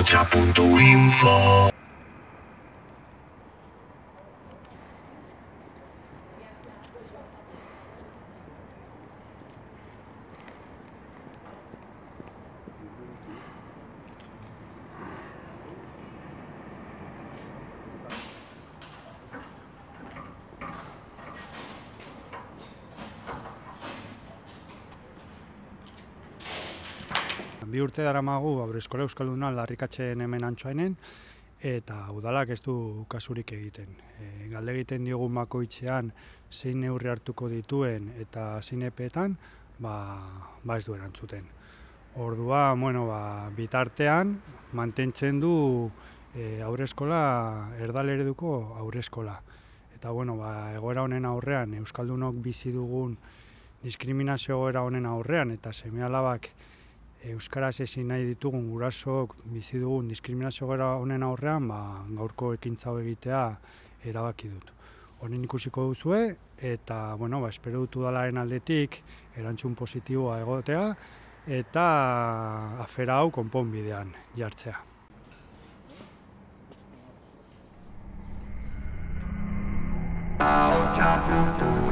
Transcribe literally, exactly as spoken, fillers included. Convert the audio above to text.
ahotsa puntu info. Bi urte daramagu Haurreskola Euskalduna aldarrikatzen hemen Antsoainen, eta udalak ez du kasurik egiten. E, galde egiten diogun bakoitzean zein neurri hartuko dituen eta zein epeetan, ba, ba ez du erantzuten. Ordua, bueno, ba, bitartean mantentzen du e, haurreskola erdalereduko haurreskola. Eta bueno, ba, egoera honen aurrean, euskaldunok bizi dugun diskriminazio egoera honen aurrean eta seme-alabak euskaraz ezin nahi ditugun gurasook bizi dugun diskriminazio egoera honen aurrean, ba, gaurko ekintza hau egitea erabaki dut. Honen ikusiko duzue eta bueno, ba, espero dut udalaren aldetik erantzun positiboa egotea eta afera hau konponbidean jartzea. ahotsa puntu